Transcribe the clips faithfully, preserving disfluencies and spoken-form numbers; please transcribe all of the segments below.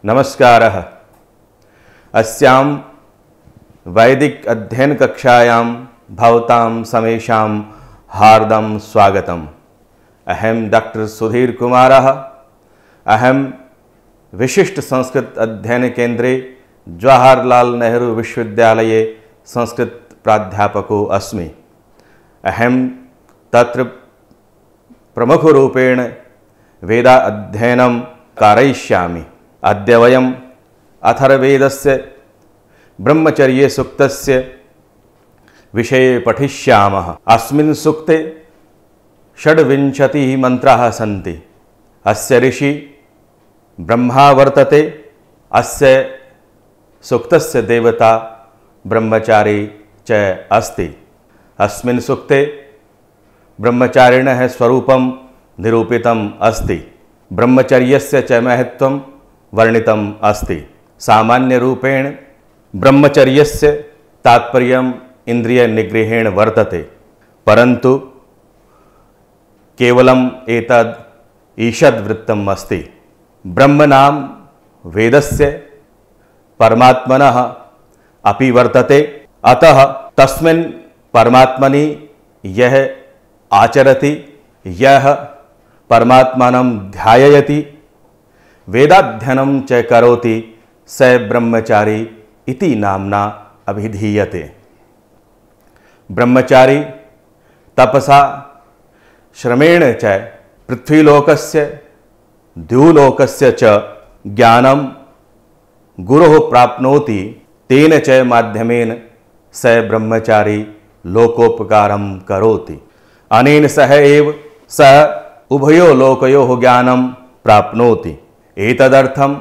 नमस्कारः। अस्यां वैदिक अध्ययन कक्षायां भवतां समेषां हार्दं स्वागतम्। अहं डॉक्टर सुधीर कुमारः। अहं विशिष्ट संस्कृत अध्ययन केंद्रे जवाहरलाल नेहरू विश्वविद्यालये संस्कृत प्राध्यापको अस्मि। अहं तत्र प्रमुखरूपेण वेदा अध्ययनं कारयिष्यामि। अद्य वयम् अथर्ववेदस्य ब्रह्मचर्य सूक्तस्य विषये पठिष्यामः। अस्मिन् सूक्ते षड्विंशतिः मंत्राः सन्ति। अस्य ऋषि ब्रह्मा वर्तते। अस्य सूक्तस्य देवता ब्रह्मचारी च अस्ति। अस्मिन् सूक्ते ब्रह्मचारिणः स्वरूपं निरूपितम् अस्ति। ब्रह्मचर्यस्य च महत्त्वं वर्णितम् अस्ति। सामान्यरूपेण ब्रह्मचर्यस्य तात्पर्यम् इन्द्रियनिग्रहेण वर्तते, परन्तु केवलम् एतद् ईषद्वृत्तम् अस्ति। ब्रह्मनाम वेदस्य परमात्मनः अपि वर्तते। अतः तस्मिन् परमात्मनि यः आचरति, यः परमात्मानं ध्यायति, वेदाध्ययनं च करोति, स ब्रह्मचारी इति नाम्ना अभिधीयते। ब्रह्मचारी तपसा श्रमेण च पृथ्वीलोकस्य द्युलोकस्य च ज्ञानं गुरोः प्राप्नोति। तेन च माध्यमेन स ब्रह्मचारी लोकोपकारं करोति। अनेन सह एव सः उभयो लोकयोः ज्ञानं प्राप्नोति। एतदर्थं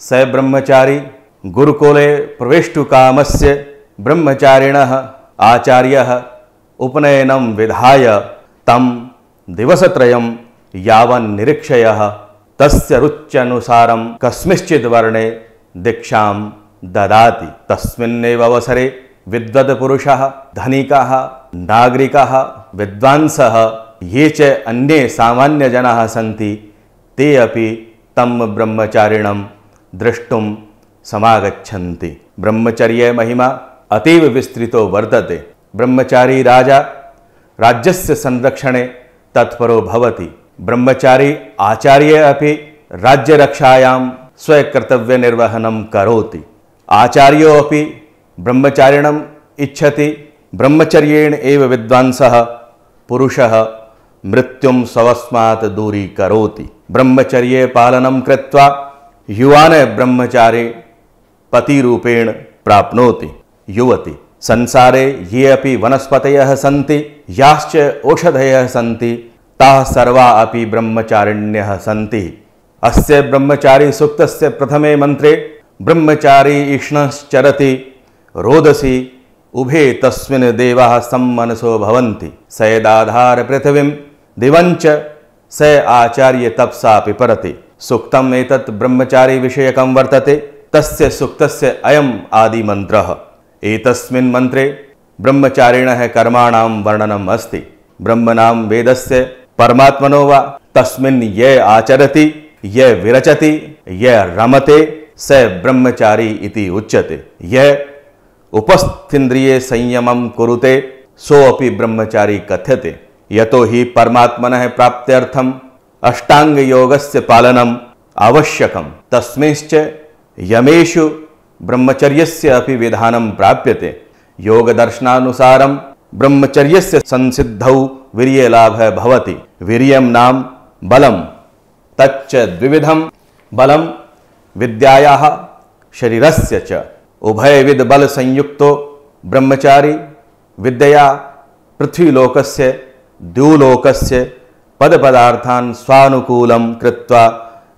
स ब्रह्मचारी गुरुकुले प्रवेष्टुकामस्य ब्रह्मचारिणः आचार्यः उपनयनं विधाय तं दिवसत्रयं यावन् निरीक्षयः तस्य रुच्यनुसारं कस्मिंश्चित् वर्णे दीक्षां ददाति। तस्मिन्नेव अवसरे विद्वद्पुरुषः, धनिकः, नागरिकः, विद्वांसः, ये च अन्ये सामान्यजनाः सन्ति, ते अपि तं ब्रह्मचारिणं द्रष्टुं समागच्छन्ति। ब्रह्मचर्य महिमा अतीव विस्तृतो वर्तते। ब्रह्मचारी राजा राज्यस्य संरक्षणे तत्परो भवति। ब्रह्मचारी आचार्य अपि राज्यरक्षायां स्वकर्तव्यनिर्वहनं करोति। आचार्यो अपि ब्रह्मचारिणम् इच्छति। ब्रह्मचर्येण एव विद्वांसः पुरुषः मृत्युं स्वस्मात् दूरीकरोति। ब्रह्मचर्ये पालनं कृत्वा युवान् ब्रह्मचारी पतिरूपेण प्राप्नोति। युवति संसारे ये अपि वनस्पतयः सन्ति, याश्च औषधयः सन्ति, ताः सर्वा अपि ब्रह्मचारिण्यः सन्ति। अस्य ब्रह्मचारी सूक्तस्य प्रथमे मंत्रे ब्रह्मचारी इष्णश्चरति रोदसी उभे तस्मिन् देवाः सम्मनसो भवन्ति। स यदाधार पृथिवीं दिवञ्च स आचार्य तपसा पिपरति। सूक्तम् एतत् ब्रह्मचारी विषयकं वर्तते। तस्य सूक्तस्य अयम् आदिमन्त्रः। एतस्मिन् मन्त्रे ब्रह्मचारिणः कर्माणां वर्णनम् अस्ति। ब्रह्मनां वेदस्य परमात्मनो वा तस्मिन् ये आचरति, ये विरचति, ये रमते, स ब्रह्मचारी इति उच्यते। यः उपस्थीन्द्रिये संयमं कुरुते, सोऽपि ब्रह्मचारी कथ्यते। यतो हि परमात्मनः प्राप्त्यर्थम् अष्टाङ्गयोगस्य पालनम् आवश्यकम्। तस्मिंश्च यमेषु ब्रह्मचर्यस्य अपि विधानं प्राप्यते। योगदर्शनानुसारं ब्रह्मचर्यस्य संसिद्धौ वीर्यलाभः भवति। वीर्यं नाम बलं। तच्च द्विविधं बलं विद्यायाः शरीरस्य च। उभयविध बल संयुक्तो ब्रह्मचारी विद्या पृथ्वीलोकस्य द्युलोकस्य पदपदार्थान् स्वानुकूलं कृत्वा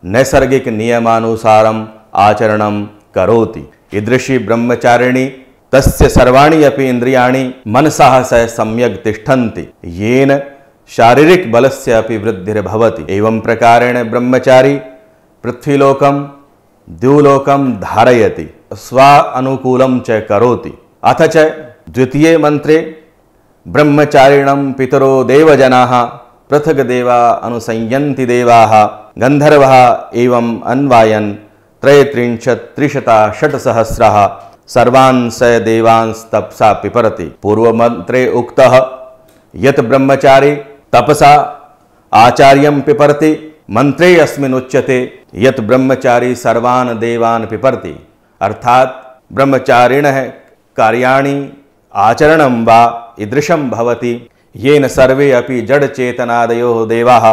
नैसर्गिक नियमानुसारम् आचरणं करोति। ईदृशी ब्रह्मचारिणी तस्य सर्वाणि अपि इन्द्रियाणि मनसः सह सम्यक् तिष्ठन्ति, येन शारीरिक बलस्य अपि वृद्धिर्भवति। एवं प्रकारेण ब्रह्मचारी पृथ्वीलोकं द्युलोकं धारयति, स्वानुकूलं च करोति। अथ च द्वितीये मंत्रे ब्रह्मचारिणं पितरो देवजनाः पृथग् देवा अनुसंयन्ति देवाः गन्धर्वः एवं अन्वायन् त्रयत्रिंशत्त्रिशता षट्सहस्रः सर्वान् स देवांस्तपसा पिपरति। पूर्वमन्त्रे उक्तः यत् ब्रह्मचारी तपसा आचार्यं पिपरति, मंत्रे अस्मिन् उच्यते यत् ब्रह्मचारी सर्वान् देवान् पिपरति। अर्थात ब्रह्मचारिणः कार्याणि आचरणं वा ईदृशं भवति येन सर्वे अपि जडचेतनादयो देवाः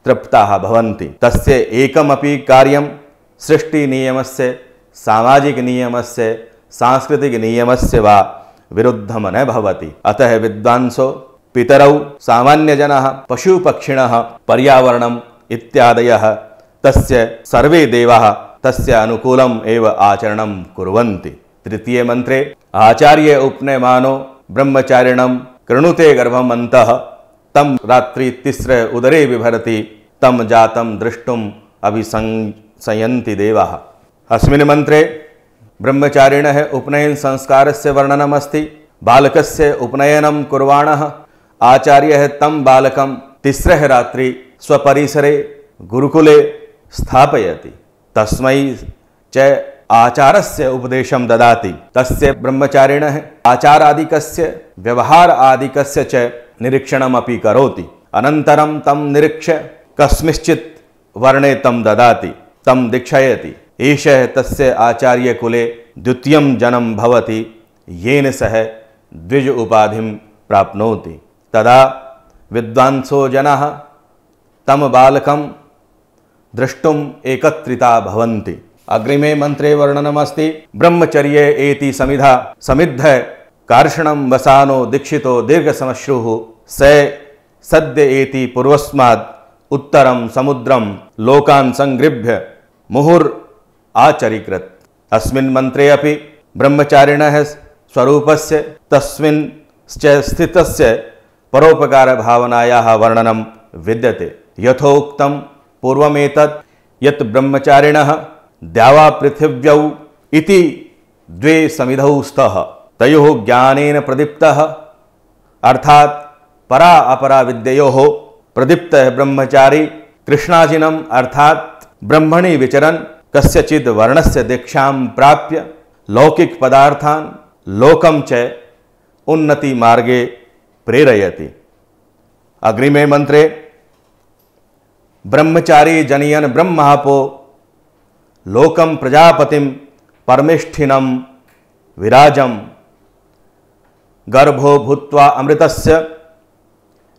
तृप्ताः भवन्ति। तस्य एकमपि कार्यं सृष्टिनियमस्य, सामाजिकनियमस्य, सांस्कृतिकनियमस्य वा विरुद्धं न भवति। अतः विद्वांसो पितरौ सामान्यजनः पशुपक्षिणः पर्यावरणम् इत्यादयः तस्य सर्वे देवाः तस्य अनुकूलम् एव आचरणं कुर्वन्ति। तृतीये मंत्रे आचार्य उपनयमानो ब्रह्मचारिणं कृणुते गर्भम् अन्तः तं रात्रि तिस्र उदरे बिभरति तं जातं द्रष्टुम् अभिसंशयन्ति देवाः। अस्मिन् मंत्रे ब्रह्मचारिणः उपनयन संस्कारस्य वर्णनमस्ति। बालकस्य उपनयनं कुर्वाणः आचार्यः तं बालकं तिस्रः रात्रि स्वपरिसरे गुरुकुले स्थापयति, तस्मै च आचारस्य उपदेशं ददाति। तस्य ब्रह्मचारिणः आचारादिकस्य व्यवहार आदिकस्य च निरीक्षणमपि करोति। अनन्तरं तं निरीक्ष्य कस्मिंश्चित् वर्णे तं ददाति, तं दीक्षयति। एषः तस्य आचार्यकुले द्वितीयं जन्म भवति येन सः द्विज उपाधिं प्राप्नोति। तदा विद्वांसो जनाः तं बालकं द्रष्टुम् एकत्रिता भवन्ति। अग्रिमे मंत्रे वर्णनमस्ति। ब्रह्मचर्ये एति समिधा समिद्ध कार्षणं वसानो दीक्षितो दीर्घसमश्रुः स सद्य एति पूर्वस्माद् उत्तरं समुद्रं लोकान् संगृभ्य मुहुर् आचरीकृत्। अस्मिन् मंत्रे अपि ब्रह्मचारिणः स्वरूपस्य तस्मिन् च स्थितस्य परोपकार भावनायाः वर्णनं विद्यते। यथोक्तं पूर्वमेतत् यत् ब्रह्मचारिणः द्यावा पृथिव्यौ इति द्वे समिधौ स्तः, तयोः ज्ञानेन प्रदीप्तः अर्थात परा अपरा विद्ययोः प्रदीप्तः ब्रह्मचारी कृष्णाजिनम् अर्थात ब्रह्मणि विचरन् कस्यचिद् वर्णस्य दीक्षां प्राप्य लौकिक पदार्थान् लोकं च उन्नति मार्गे प्रेरयति। अग्रिमे मंत्रे ब्रह्मचारी जनयन ब्रह्मापो लोकं प्रजापतिं परमेष्ठिनं विराजं गर्भो भूत्वा अमृतस्य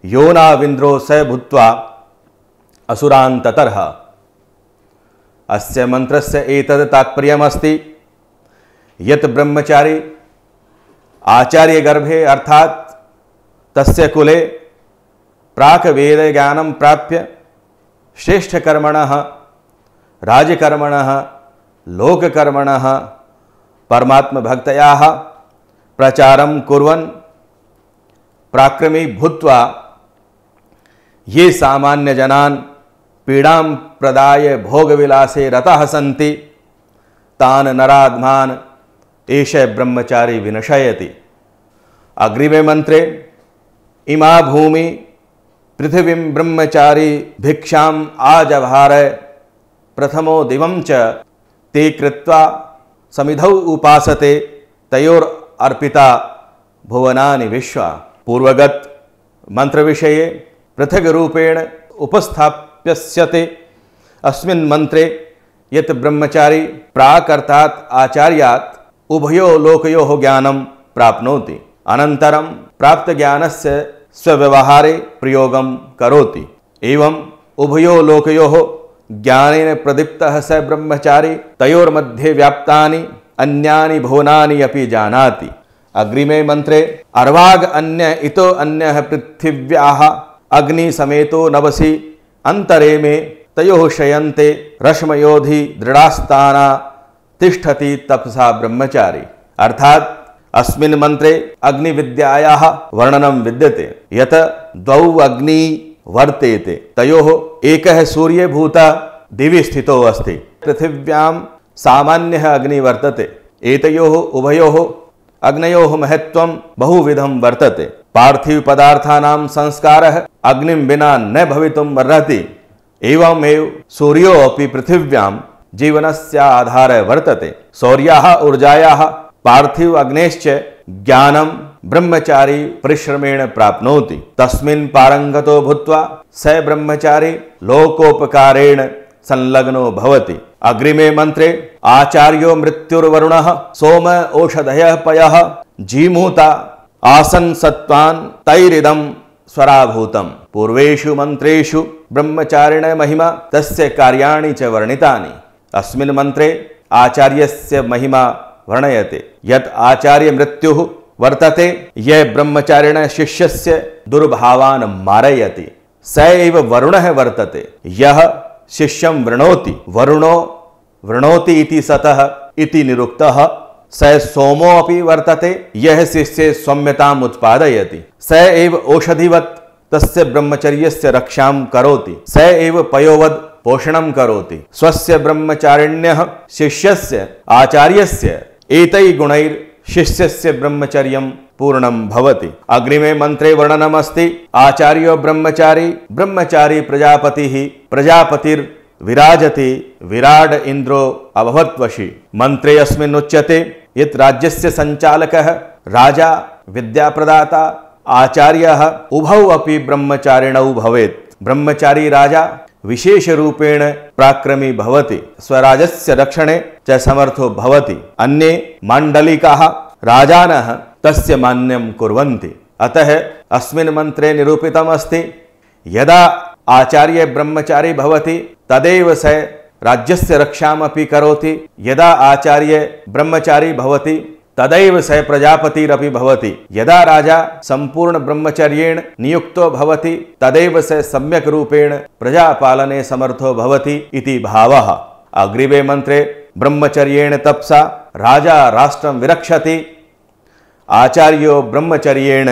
योनाविन्द्रो स भूत्वा असुरान् ततर्ह। अस्य मंत्रस्य एतद् तात्पर्यमस्ति यत् ब्रह्मचारी आचार्य गर्भे अर्थात तस्य कुले प्राक वेद ज्ञानं प्राप्य श्रेष्ठकर्मणः, राजकर्मणः, लोककर्मणः, परमात्मभक्तयाः प्रचारं कुर्वन् पराक्रमी भूत्वा ये सामान्यजनान् पीडां प्रदाय भोगविलासे रताः सन्ति तान् नराधमान् एषः ब्रह्मचारी विनशयति। अग्रिमे मंत्रे इमा भूमि पृथिवीं ब्रह्मचारी भिक्षाम् आजभार प्रथमो दिवं च ते कृत्वा समिधौ उपासते तयोर अर्पिता भुवनानि विश्वा। पूर्वगत मंत्र विषये पृथक रूपेण उपस्थाप्यस्यते। अस्मिन् मंत्रे यत् ब्रह्मचारी प्राक् अर्थात् आचार्यात् उभयो लोकयोः ज्ञानं प्राप्नोति, अनन्तरं प्राप्त ज्ञानस्य स्वव्यवहारे प्रयोगं करोति। एवं उभयो लोकयोः ज्ञानेन प्रदीप्तः स ब्रह्मचारी तयोर्मध्ये व्याप्तानि अन्यानि भुवनानि अपि जानाति। अग्रिमे मंत्रे अर्वाग अन्य इतो अन्यः पृथिव्याः अग्नि समेतो नवसि अंतरे में तयोः शयन्ते रश्मयोधि दृढ़ास्ताना तिष्ठति तपसा ब्रह्मचारी। अर्थात अस्मिन् मंत्रे अग्नि विद्यायाः वर्णनं विद्यते। यत द्वौ अग्नि वर्तेते तयोः एकः सूर्यभूता दिवि स्थितो अस्ति, पृथिव्यां सामान्यः अग्नि वर्तते। एतयोः उभयोः अग्नयोः महत्त्वं बहुविधं वर्तते। पार्थिव पदार्थानां संस्कारः अग्निं विना न भवितुम् अर्हति। एवमेव सूर्यो अपि पृथिव्यां जीवनस्य आधारः वर्तते। शौर्याः ऊर्जायाः पार्थिव अग्नेश्च ज्ञानं ब्रह्मचारी परिश्रमेण प्राप्नोति। तस्मिन् पारंगतो भूत्वा स ब्रह्मचारी लोकोपकारेण संलग्नो भवति। अग्रिमे मंत्रे आचार्यो मृत्युर्वरुणः सोम ओषधयः पयः जीमूता आसन् सत्त्वान् तैरिदं स्वराभूतम्। पूर्वेषु मंत्रेषु ब्रह्मचारिण महिमा तस्य कार्याणि च वर्णितानि। अस्मिन् मंत्रे आचार्यस्य महिमा वर्णयते। यत् आचार्य मृत्युः वर्तते यह ब्रह्मचारिण शिष्यस्य दुर्भावान् मारयति। स एव वरुणः वर्तते यः शिष्यं वृणोति। वरुणो वृणोति इति सतः इति निरुक्तः। स सोमो अपि वर्तते यः शिष्ये सौम्यताम् उत्पादयति। स एव औषधिवत् तस्य ब्रह्मचर्यस्य रक्षां करोति। स एव पयोवद् पोषणं करोति। स्वस्य ब्रह्मचारिण्यः शिष्यस्य आचार्यस्य एतैः गुणैः शिष्यस्य ब्रह्मचर्यं पूर्णं भवति। अग्रिमे मंत्रे वर्णनमस्ति आचार्यो ब्रह्मचारी ब्रह्मचारी प्रजापतिः प्रजापतिर्विराजति विराड इन्द्रो अभवत्वशी। मंत्रे अस्मिन् उच्यते यत् राज्यस्य संचालकः राजा विद्याप्रदाता आचार्यः उभौ अपि ब्रह्मचारिणौ भवेत्। ब्रह्मचारी राजा विशेष रूपेण पराक्रमी भवति। स्वराजस्य रक्षणे च समर्थो भवति। अन्ये माण्डलिकाः राजानः तस्य मान्यं कुर्वन्ति। अतः अस्मिन् मंत्रे निरूपितम् अस्ति यदा आचार्य ब्रह्मचारी भवति तदेव स राज्यस्य रक्षामपि करोति। यदा आचार्य ब्रह्मचारी भवति तदैव स प्रजापतिरपि भवति। यदा राजा संपूर्ण ब्रह्मचर्येण नियुक्तो भवति तदैव स सम्यक् रूपेण प्रजापालने समर्थो भवति इति भावः। अग्रिमे मंत्रे ब्रह्मचर्येण तपसा राजा राष्ट्रं विरक्षति। आचार्यो ब्रह्मचर्येण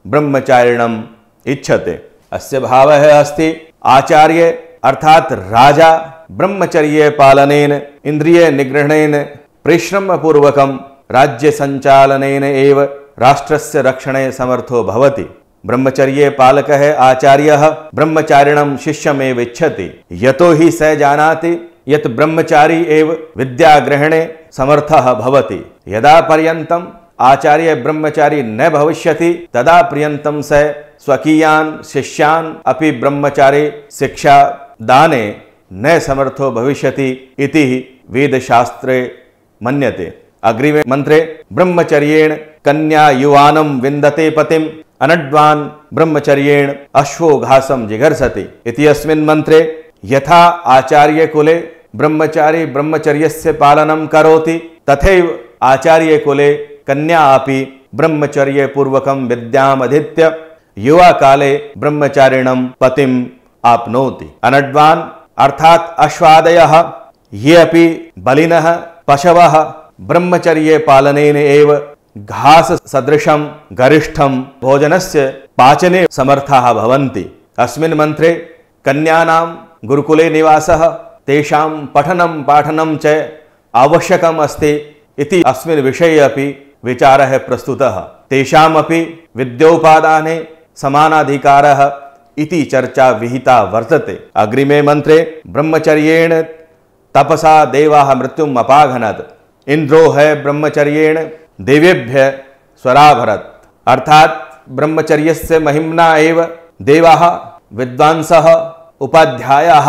ब्रह्मचारिणम् इच्छते। अस्य भावः अस्ति आचार्य अर्थात राजा ब्रह्मचर्ये पालनेन इंद्रिय निग्रहणेन परिश्रमपूर्वकं राज्य संचालनेन एव राष्ट्रस्य रक्षणे समर्थो भवति। ब्रह्मचर्ये पालकः आचार्यः ब्रह्मचारिणं शिष्यमेव इच्छति। यतो हि स जानाति यत् ब्रह्मचारी एव विद्याग्रहणे समर्थः भवति। यदा पर्यन्तम् आचार्य ब्रह्मचारी न भविष्यति तदा पर्यन्तं स स्वकीयान् शिष्यान् अपि ब्रह्मचारी शिक्षा दाने न समर्थो भविष्यति इति वेदशास्त्रे मन्यते। अग्रिमे मंत्रे ब्रह्मचर्येण कन्या युवानं विन्दते पतिम् अनड्वान् ब्रह्मचर्येण अश्वो घासं जिघर्षति इति। अस्मिन् मंत्रे यथा आचार्य कुले ब्रह्मचारी ब्रह्मचर्यस्य पालनं करोति तथैव आचार्य कुले कन्या अपि ब्रह्मचर्य पूर्वकं विद्यामधीत्य युवा काले ब्रह्मचारिणं पतिम् आप्नोति। अनड्वान् अर्थात अश्वादयः ये अपि बलिनः पशवः ब्रह्मचर्ये पालनेन एव घास सदृशं गरिष्ठं भोजनस्य पाचने समर्थाः भवन्ति। अस्मिन् मंत्रे कन्यानां गुरुकुले निवासः तेषां पठनं पाठनं च आवश्यकम् अस्ति इति अस्मिन् विषये अपि विचारः प्रस्तुतः। तेषामपि विद्योपादाने समानाधिकारः इति चर्चा विहिता वर्तते। अग्रिमे मंत्रे ब्रह्मचर्येण तपसा देवाः मृत्युम् अपाघनत्। इंद्रो है ब्रह्मचर्येण देवेभ्य स्वराभरत्। अर्थात ब्रह्मचर्यस्य महिम्ना एव देवाः विद्वांसः उपाध्यायाः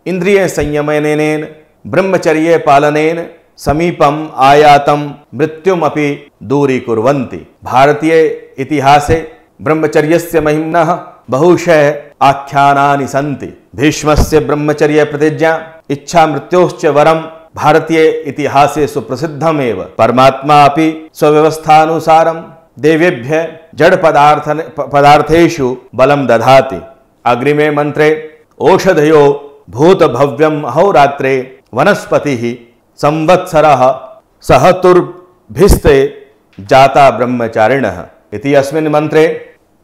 इंद्रिय संयमनेन ब्रह्मचर्ये पालनेन समीपम् आयातं मृत्युमपि दूरीकुर्वन्ति। भारतीय इतिहासे ब्रह्मचर्यस्य महिम्नः बहुशः आख्यानानि सन्ति। भीष्मस्य ब्रह्मचर्य प्रतिज्ञा इच्छा मृत्योश्च वरं भारतीय इतिहासे सुप्रसिद्धमेव। परमात्मा अपि स्वव्यवस्थानुसारं देवेभ्य जड़ पदार्थ पदार्थेषु बलं दधाति। अग्रिमे मंत्रे ओषधयो भूत भव्यम अहोरात्रे वनस्पतिः संवत्सरः सहतुर्भिस्ते जाता ब्रह्मचारिणः इति। अस्मिन् मंत्रे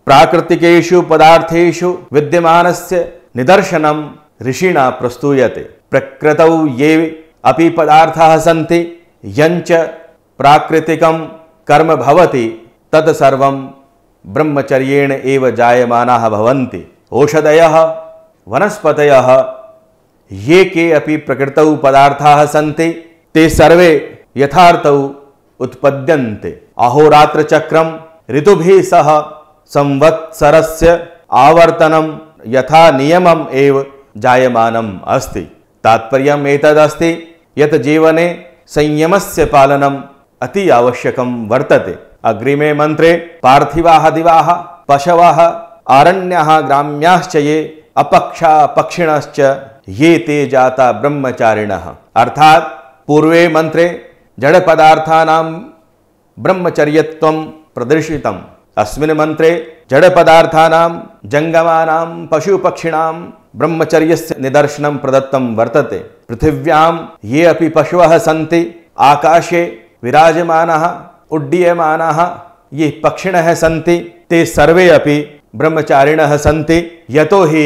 प्राकृतिकेषु पदार्थेषु विद्यमानस्य निदर्शनं ऋषिणा प्रस्तूयते। प्रकृतौ ये अपि पदार्थाः सन्ति यञ्च प्राकृतिकं कर्म भवति तत् सर्वं ब्रह्मचर्येण एव जायमानाः भवन्ति। औषधयः वनस्पतयः ये के अपि प्रकृतौ पदार्थाः सन्ति ते सर्वे यथार्थौ उत्पद्यन्ते। अहोरात्रचक्रं ऋतुभिः सह संवत्सरस्य आवर्तनं यथा नियमम् एव जायमानम् अस्ति। तात्पर्यम् एतदस्ति यत् जीवने संयमस्य पालनम् अति आवश्यकं वर्तते। अग्रिमे मंत्रे पार्थिवाः दिवाः पशवः आरण्याः ग्राम्याश्च ये अपक्षा पक्षिणश्च ये ते जाता ब्रह्मचारिणः। अर्थात पूर्वे मंत्रे जड़ पदार्थानां ब्रह्मचर्यत्वं प्रदर्शितम्। अस्मिन् मंत्रे जड़ पदार्थानां जंगमानां पशुपक्षिणां ब्रह्मचर्यस्य निदर्शनं प्रदत्तं वर्तते। पृथिव्यां ये अपि पशवः सन्ति, आकाशे विराजमानाः उड्डीयमानाः ये पक्षिणः सन्ति, ते सर्वे अपि ब्रह्मचारिणः सन्ति। यतो हि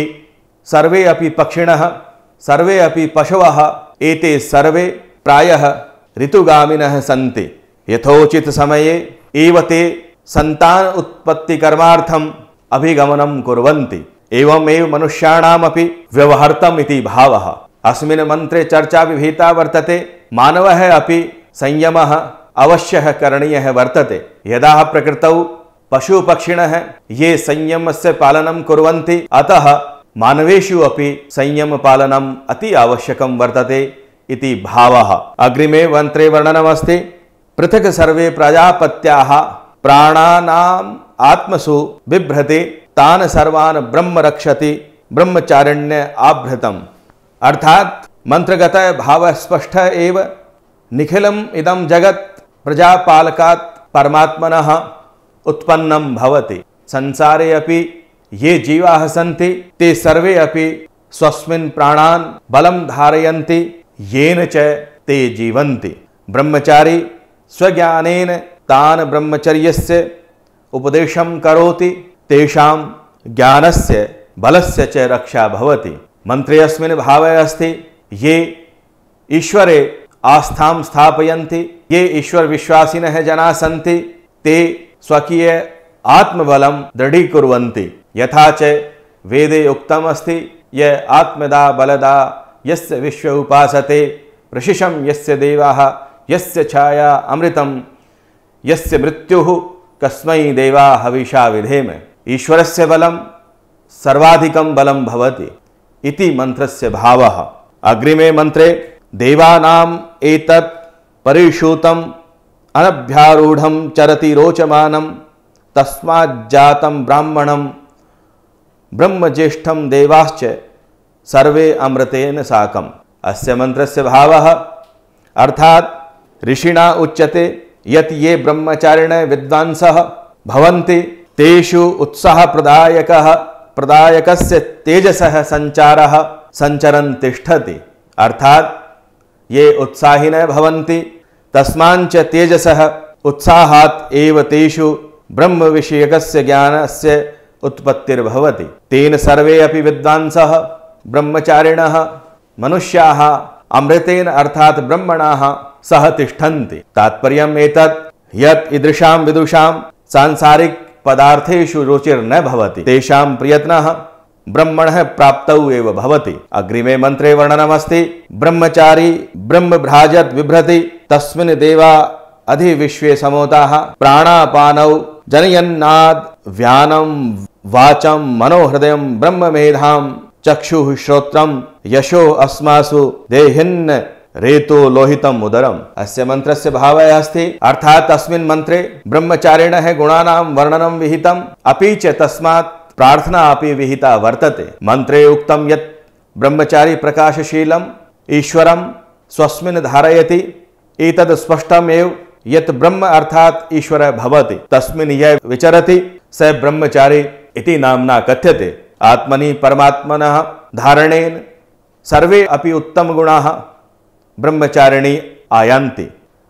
सर्वे अपि पक्षिणः, सर्वे अपि पशवः एते सर्वे प्रायः ऋतुगामिनः सन्ति। यथोचित समये एव ते संतान उत्पत्ति कर्मार्थम् अभिगमनं कुर्वन्ति। एवमेव मनुष्याणामपि व्यवहर्तम् इति भावः। अस्मिन् मन्त्रे चर्चा विहिता वर्तते। मानवः अपि संयमः अवश्यः करणीयः वर्तते। यदा प्रकृतौ पशुपक्षिणः ये संयमस्य पालनं कुर्वन्ति, अतः मानवेषु अपि संयमपालनम् अति आवश्यकं वर्तते इति भावः। अग्रिमे मन्त्रे वर्णनमस्ति। पृथक् सर्वे प्रजापत्याः प्राणानाम् आत्मसु बिभ्रति तान् सर्वान् ब्रह्म रक्षति ब्रह्मचारिण्य आभृतम्। अर्थात मंत्रगत भाव स्पष्ट एव। निखिलम् इदं जगत् प्रजापालकात् परमात्मनः उत्पन्नं भवति। संसारे अपि ये जीवाः सन्ति, ते सर्वे अपि स्वस्मिन् प्राणान् बलं धारयन्ति, येन च ते जीवन्ति। ब्रह्मचारी स्वज्ञानेन तान् ब्रह्मचर्यस्य उपदेशं करोति। तेषां ज्ञानस्य बलस्य च रक्षा भवति। मंत्रे अस्मिन् भावे अस्ति ये ईश्वरे आस्थां स्थापयन्ति, ये ईश्वर विश्वासिनः जनाः सन्ति, ते स्वकीय आत्मबलं दृढीकुर्वन्ति। यथा च वेदे उक्तम् अस्ति, य आत्मदा बलदा यस्य विश्व उपासते प्रशिशं यस्य देवाः यस्य छाया अमृतं यस्य मृत्युः कस्मै देवा हविषा विधेम। ईश्वरस्य बलं सर्वाधिकं बलं भवति इति मंत्रस्य भावः। अग्रिमे मंत्रे देवानाम् एतत् परिषूतम् अनभ्यारूढं चरति रोचमानं तस्माज्जातं ब्राह्मणं ब्रह्मज्येष्ठं देवाश्च सर्वे अमृतेन साकम्। अस्य मंत्रस्य भावः अर्थात ऋषिणा उच्यते यत् ये ब्रह्मचारिणः विद्वांसः भवन्ति, तेषु उत्साहप्रदायकः प्रदायकस्य तेजसः संचारः संचरन् तिष्ठति। अर्थात ये उत्साहिनः भवन्ति, तस्माञ्च तेजसः उत्साहात् एव तेषु ब्रह्मविषयकस्य ज्ञानस्य उत्पत्तिर्भवति। तेन सर्वे अपि विद्वांसः ब्रह्मचारिणः मनुष्याः अमृतेन अर्थात ब्रह्मणाः सह तिष्ठन्ति। तात्पर्यम् एतत् यत् ईदृशां विदुषां सांसारिक पदार्थेषु रुचिर्न भवति, तेषां प्रयत्नः ब्रह्मणः प्राप्तौ एव भवति। अग्रिमे मंत्रे वर्णनमस्ति। ब्रह्मचारी ब्रह्मभ्राजत् बिभ्रति तस्मिन् देवा अधिविश्वे समोताः प्राणापानौ जनयन्नाद् व्यानं वाचं मनोहृदयं ब्रह्ममेधां चक्षुः श्रोत्रं यशो अस्मासु देहिन्न रेतो लोहितम् उदरम्। अस्य मंत्रस्य भावः अस्ति अर्थात अस्मिन् मंत्रे ब्रह्मचारिणः गुणानां वर्णनं विहितम्, अपि च तस्मात् प्रार्थना अपि विहिता वर्तते। मंत्रे उक्तं यत् ब्रह्मचारी प्रकाशशीलम् ईश्वरं स्वस्मिन् धारयति। एतद् स्पष्टमेव यत् ब्रह्म अर्थात ईश्वर भवति, तस्मिन् यः विचरति स ब्रह्मचारी इति नाम्ना कथ्यते। आत्मनि परमात्मनः धारणेन सर्वे अपि उत्तमगुणाः ब्रह्मचारिणी आयान्ति।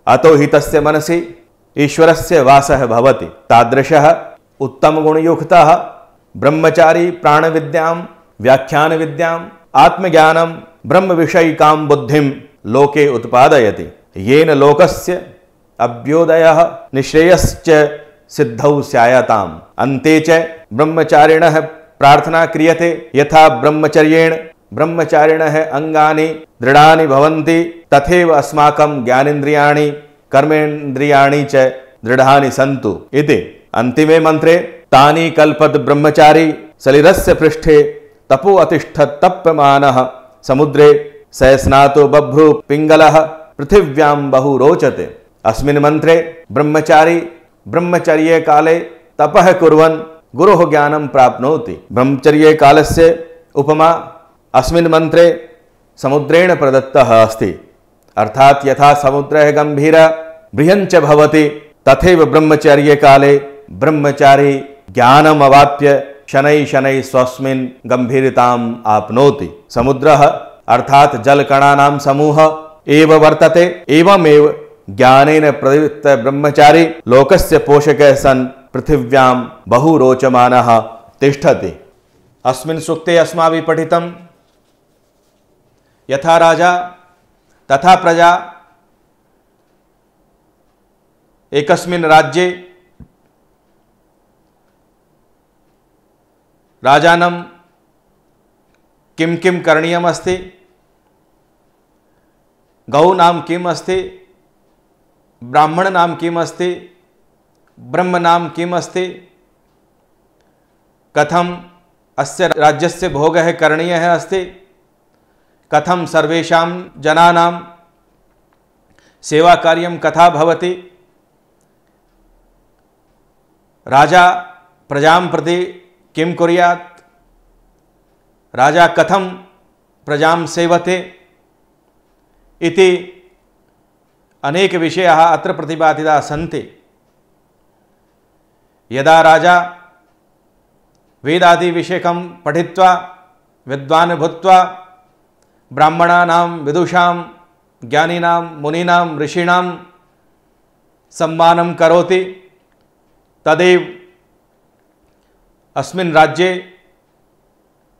अतो हि तस्य मनसि ईश्वरस्य वासः भवति। तादृशः उत्तमगुणयुक्तः ब्रह्मचारी प्राणविद्यां व्याख्यानविद्याम् आत्मज्ञानं ब्रह्मविषयिकां बुद्धिं लोके उत्पादयति, येन लोकस्य अभ्युदयः निःश्रेयश्च सिद्धौ स्यायताम्। अन्ते च ब्रह्मचारिणः प्रार्थना क्रियते यथा ब्रह्मचर्येण ब्रह्मचारिणः अंगानि दृढ़ानि भवन्ति तथैव अस्माकं ज्ञानेन्द्रियाणि कर्मेन्द्रियाणि च दृढ़ानि सन्तु इति अन्तिमे मंत्रे तानि कल्पत ब्रह्मचारी सलिलस्य पृष्ठे तपो अतिष्ठत् तप्यमानः समुद्रे सयस्नातो बभ्रू पिंगलः पृथिव्यां बहु रोचते। अस्मिन् मंत्रे ब्रह्मचारी ब्रह्मचर्ये काले तपः कुर्वन् गुरोः ज्ञानं प्राप्नोति। ब्रह्मचर्ये कालस्य उपमा अस्मिन् मंत्रे समुद्रेण प्रदत्तः अस्ति। अर्थात् यथा समुद्रः गंभीरः बृहञ्च भवति तथैव ब्रह्मचर्ये काले ब्रह्मचारी ज्ञानम् अवाप्य शनैः शनैः स्वस्मिन् गंभीरताम् आपनोति। समुद्रः अर्थात् जलकणानां समूह एव वर्तते। एवमेव ज्ञानेन प्रवृत्त ब्रह्मचारी लोकस्य पोषकः सन् पृथिव्यां बहु रोचमानः तिष्ठति। अस्मिन् सूक्ते अस्माभिः पठितं यथा राजा तथा प्रजा एकस्मिन् राज्ये राजानं किं किं करणीयम् अस्ति, गौनां किम् अस्ति, ब्राह्मणानां किम् अस्ति, ब्रह्मणां किम् अस्ति, कथम् अस्य राज्यस्य भोगः करणीयः अस्ति, कथं सर्वेषां जनानां सेवाकार्यं कथा भवति, राजा प्रजां प्रति किं कुर्यात्, राजा कथं प्रजां सेवते इति अनेक विषयाः अत्र प्रतिपादिताः सन्ति। यदा राजा वेदादि विषयकं पठित्वा विद्वान् भूत्वा ब्राह्मणानां विदुषां ज्ञानिनां मुनीनां ऋषीणां सम्मानं करोति तदेव अस्मिन् राज्ये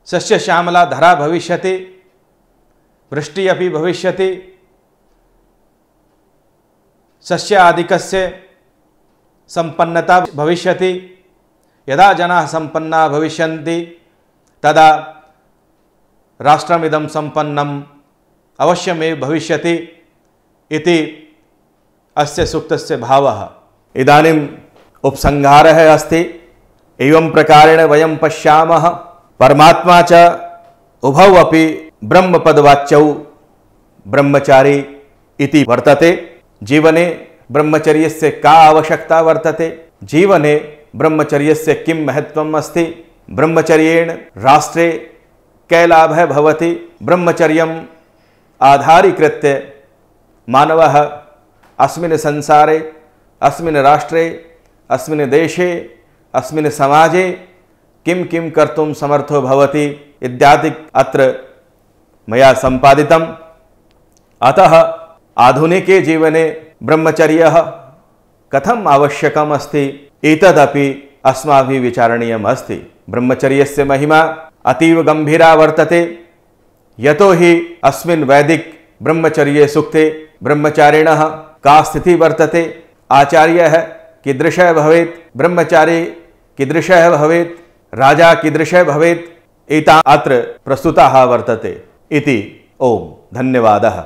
सस्यश्यामला धरा भविष्यति, वृष्टिः अपि भविष्यति, सस्यादिकस्य संपन्नता भविष्यति। यदा जनाः संपन्ना भविष्यन्ति तदा राष्ट्रमिदं संपन्नम् अवश्यमेव भविष्यति इति अस्य सूक्तस्य भावः। इदानीम् उपसंहारः अस्ति। एवं प्रकारेण वयं पश्यामः परमात्मा च उभौ अपि ब्रह्मपदवाच्यौ ब्रह्मचारी इति वर्तते। जीवने ब्रह्मचर्यस्य का आवश्यकता वर्तते, जीवने ब्रह्मचर्यस्य किं महत्त्वम् अस्ति, ब्रह्मचर्येण राष्ट्रे कः लाभः भवति, ब्रह्मचर्यम् आधारीकृत्य मानवः अस्मिन् संसारे अस्मिन् राष्ट्रे अस्मिन् देशे अस्मिन् समाजे किं किं कर्तुं समर्थो भवति इत्यादि अत्र मया सम्पादितम्। अतः आधुनिके जीवने ब्रह्मचर्यः कथम् आवश्यकम् अस्ति एतदपि अस्माभिः विचारणीयम् अस्ति। ब्रह्मचर्यस्य महिमा अतीव गंभीरा वर्तते। यतो हि अस्मिन् वैदिक ब्रह्मचर्ये सूक्ते ब्रह्मचारिणः का स्थितिः वर्तते, आचार्यः कीदृशः भवेत्, ब्रह्मचारी कीदृशः भवेत्, राजा कीदृशः भवेत्, एता अत्र प्रस्तुताः वर्तते इति। ओम धन्यवादः।